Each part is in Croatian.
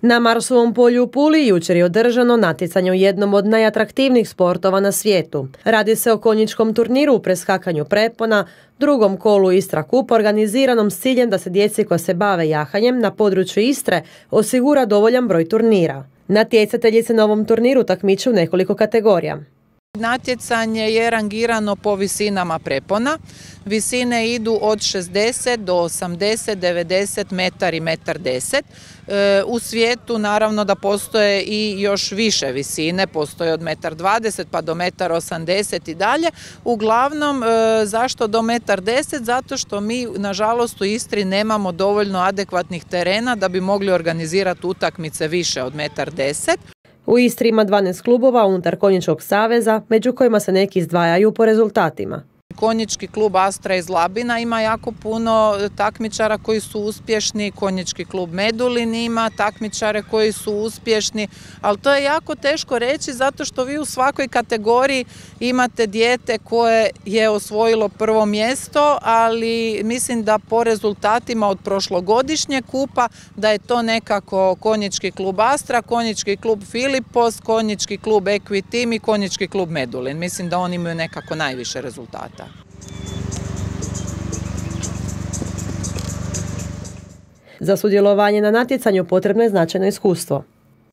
Na Marsovom polju u Puli jučer je održano natjecanje u jednom od najatraktivnijih sportova na svijetu. Radi se o konjičkom turniru u preskakanju prepona, drugom kolu Istra Cup, organiziranom s ciljem da se djeci koja se bave jahanjem na području Istre osigura dovoljan broj turnira. Natjecatelji se na ovom turniru takmiče u nekoliko kategorija. Natjecanje je rangirano po visinama prepona. Visine idu od 60 do 80, 90 metar i 1,10 m. U svijetu naravno da postoje i još više visine, postoje od 1,20 m pa do 1,80 m i dalje. Uglavnom, zašto do 1,10 m? Zato što mi nažalost u Istri nemamo dovoljno adekvatnih terena da bi mogli organizirati utakmice više od 1,10 m. U Istri ima 12 klubova unutar Konjičkog saveza, među kojima se neki izdvajaju po rezultatima. Konjički klub Astra iz Labina ima jako puno takmičara koji su uspješni, konjički klub Medulin ima takmičare koji su uspješni, ali to je jako teško reći zato što vi u svakoj kategoriji imate dijete koje je osvojilo prvo mjesto, ali mislim da po rezultatima od prošlogodišnjeg kupa da je to nekako konjički klub Astra, konjički klub Filipos, konjički klub Equitim i konjički klub Medulin. Mislim da oni imaju nekako najviše rezultata. Za sudjelovanje na natjecanju potrebno je značajno iskustvo.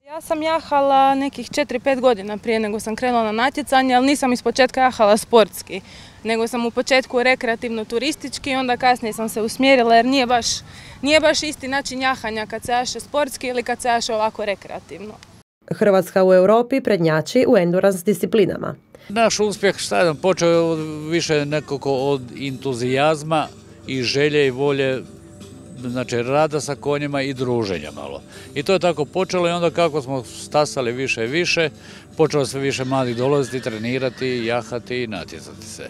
Ja sam jahala nekih 4-5 godina prije nego sam krenula na natjecanje, ali nisam ispočetka jahala sportski, nego sam u početku rekreativno-turistički, onda kasnije sam se usmjerila jer nije baš isti način jahanja kad se jaše sportski ili kad se jaše ovako rekreativno. Hrvatska u Europi prednjači u endurance disciplinama. Naš uspjeh počeo je više nekako od entuzijazma i želje i volje, znači rada sa konjima i druženja malo. I to je tako počelo i onda kako smo stasali više i više, počelo sve više mladih dolaziti, trenirati, jahati i natjecati se.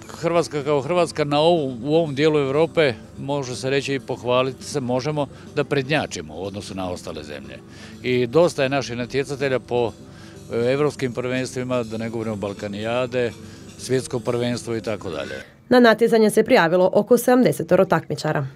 Hrvatska kao Hrvatska u ovom dijelu Europe može se reći i pohvaliti se možemo da prednjačimo u odnosu na ostale zemlje. I dosta je naših natjecatelja po evropskim prvenstvima, da ne govorimo Balkanijade, svjetsko prvenstvo i tako dalje. Na natjecanje se prijavilo oko 70 takmičara.